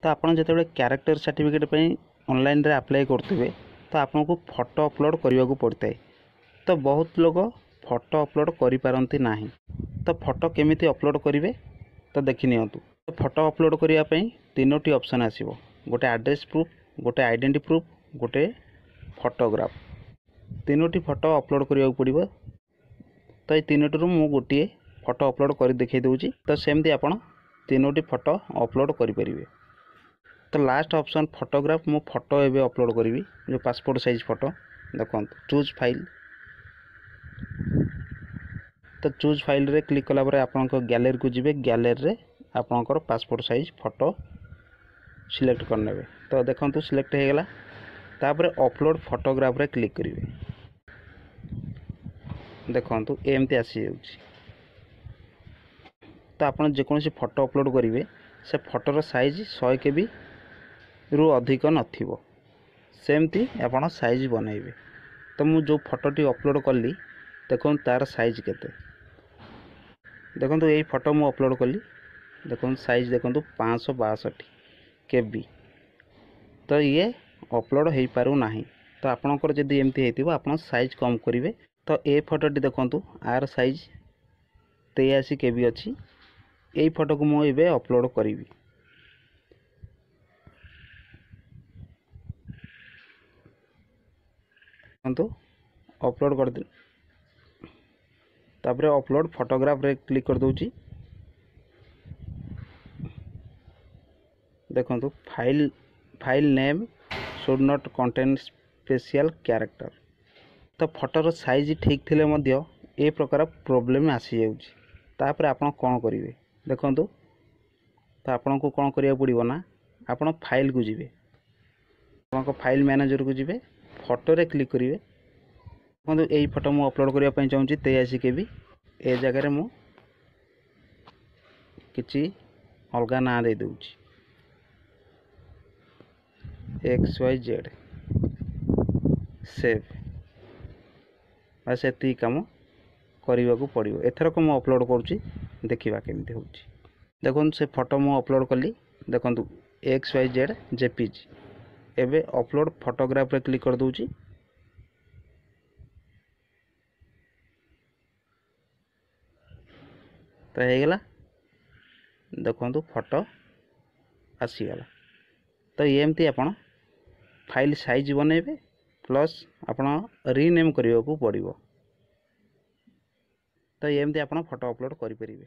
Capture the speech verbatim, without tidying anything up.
ତ ଆପଣ ଯେତେବେଳେ କ୍ୟାରେକ୍ଟର ସାର୍ଟିଫିକେଟ୍ ପାଇଁ ଅନଲାଇନ୍ରେ ଆପ୍ଲାଏ କରୁଥିବେ, ତ ଆପଣଙ୍କୁ ଫଟୋ ଅପଲୋଡ଼ କରିବାକୁ ପଡ଼ିଥାଏ। ତ ବହୁତ ଲୋକ ଫଟୋ ଅପଲୋଡ଼ କରିପାରନ୍ତି ନାହିଁ। ତ ଫଟୋ କେମିତି ଅପଲୋଡ଼ କରିବେ, ତ ଦେଖି ନିଅନ୍ତୁ। ତ ଫଟୋ ଅପଲୋଡ଼ କରିବା ପାଇଁ ତିନୋଟି ଅପସନ୍ ଆସିବ, ଗୋଟେ ଆଡ୍ରେସ୍ ପ୍ରୁଫ୍, ଗୋଟେ ଆଇଡେଣ୍ଟି ପ୍ରୁଫ୍, ଗୋଟେ ଫଟୋଗ୍ରାଫ। ତିନୋଟି ଫଟୋ ଅପଲୋଡ଼ କରିବାକୁ ପଡ଼ିବ। ତ ଏଇ ତିନୋଟିରୁ ମୁଁ ଗୋଟିଏ ଫଟୋ ଅପଲୋଡ଼ କରି ଦେଖାଇ ଦେଉଛି। ତ ସେମିତି ଆପଣ ତିନୋଟି ଫଟୋ ଅପଲୋଡ଼ କରିପାରିବେ। ତ ଲାଷ୍ଟ ଅପସନ୍ ଫଟୋଗ୍ରାଫ, ମୁଁ ଫଟୋ ଏବେ ଅପଲୋଡ଼ କରିବି, ଯେଉଁ ପାସପୋର୍ଟ ସାଇଜ୍ ଫଟୋ। ଦେଖନ୍ତୁ, ଚୁଜ୍ ଫାଇଲ୍। ତ ଚୁଜ୍ ଫାଇଲ୍ରେ କ୍ଲିକ୍ କଲା ପରେ ଆପଣଙ୍କ ଗ୍ୟାଲେରୀକୁ ଯିବେ। ଗ୍ୟାଲେରୀରେ ଆପଣଙ୍କର ପାସପୋର୍ଟ ସାଇଜ୍ ଫଟୋ ସିଲେକ୍ଟ କରିନେବେ। ତ ଦେଖନ୍ତୁ, ସିଲେକ୍ଟ ହେଇଗଲା। ତାପରେ ଅପଲୋଡ଼ ଫଟୋଗ୍ରାଫରେ କ୍ଲିକ୍ କରିବେ। ଦେଖନ୍ତୁ, ଏମିତି ଆସିଯାଉଛି। ତ ଆପଣ ଯେକୌଣସି ଫଟୋ ଅପଲୋଡ଼ କରିବେ, ସେ ଫଟୋର ସାଇଜ୍ ଶହେ କେବିରୁ ଅଧିକ ନଥିବ, ସେମିତି ଆପଣ ସାଇଜ୍ ବନେଇବେ। ତ ମୁଁ ଯେଉଁ ଫଟୋଟି ଅପଲୋଡ଼ କଲି, ଦେଖନ୍ତୁ ତା'ର ସାଇଜ୍ କେତେ। ଦେଖନ୍ତୁ, ଏଇ ଫଟୋ ମୁଁ ଅପଲୋଡ଼ କଲି। ଦେଖନ୍ତୁ, ସାଇଜ୍ ଦେଖନ୍ତୁ, ପାଞ୍ଚଶହ ବାଷଠି କେବି। ତ ଇଏ ଅପଲୋଡ଼ ହେଇପାରୁନାହିଁ। ତ ଆପଣଙ୍କର ଯଦି ଏମିତି ହେଇଥିବ, ଆପଣ ସାଇଜ୍ କମ୍ କରିବେ। ତ ଏ ଫଟୋଟି ଦେଖନ୍ତୁ, ଆର ସାଇଜ୍ ତେୟାଅଶୀ କେବି ଅଛି। ଏଇ ଫଟୋକୁ ମୁଁ ଏବେ ଅପଲୋଡ଼ କରିବି। ଦେଖନ୍ତୁ, ଅପଲୋଡ଼ କରିଦେଲି। ତାପରେ ଅପଲୋଡ଼ ଫଟୋଗ୍ରାଫରେ କ୍ଲିକ୍ କରିଦେଉଛି। ଦେଖନ୍ତୁ, file file name should not contain special character। ତ ଫଟୋର ସାଇଜ୍ ଠିକ୍ ଥିଲେ ମଧ୍ୟ ଏ ପ୍ରକାର ପ୍ରୋବ୍ଲେମ୍ ଆସିଯାଉଛି। ତାପରେ ଆପଣ କ'ଣ କରିବେ ଦେଖନ୍ତୁ। ତ ଆପଣଙ୍କୁ କ'ଣ କରିବାକୁ ପଡ଼ିବ ନା, ଆପଣ ଫାଇଲ୍କୁ ଯିବେ, ଆପଣଙ୍କ ଫାଇଲ୍ ମ୍ୟାନେଜରକୁ ଯିବେ, ଫଟୋରେ କ୍ଲିକ୍ କରିବେ। ଦେଖନ୍ତୁ, ଏଇ ଫଟୋ ମୁଁ ଅପଲୋଡ଼ କରିବା ପାଇଁ ଚାହୁଁଛି, ତେୟାଅଶୀ କେବି। ଏ ଜାଗାରେ ମୁଁ କିଛି ଅଲଗା ନାଁ ଦେଇଦେଉଛି, ଏକ୍ସ ୱାଇ ଜେଡ଼୍, ସେଭ୍। ବାସ୍, ଏତିକି କାମ କରିବାକୁ ପଡ଼ିବ। ଏଥରକ ମୁଁ ଅପଲୋଡ଼ କରୁଛି, ଦେଖିବା କେମିତି ହେଉଛି। ଦେଖନ୍ତୁ, ସେ ଫଟୋ ମୁଁ ଅପଲୋଡ଼ କଲି। ଦେଖନ୍ତୁ, ଏକ୍ସ ୱାଇ ଜେଡ଼୍ ଜେପିଜି। ଏବେ ଅପଲୋଡ଼ ଫଟୋଗ୍ରାଫରେ କ୍ଲିକ୍ କରିଦେଉଛି। ତ ହେଇଗଲା। ଦେଖନ୍ତୁ, ଫଟୋ ଆସିଗଲା। ତ ଏମିତି ଆପଣ ଫାଇଲ୍ ସାଇଜ୍ ବନେଇବେ, ପ୍ଲସ୍ ଆପଣ ରିନେମ୍ କରିବାକୁ ପଡ଼ିବ। ତ ଏମିତି ଆପଣ ଫଟୋ ଅପଲୋଡ଼ କରିପାରିବେ।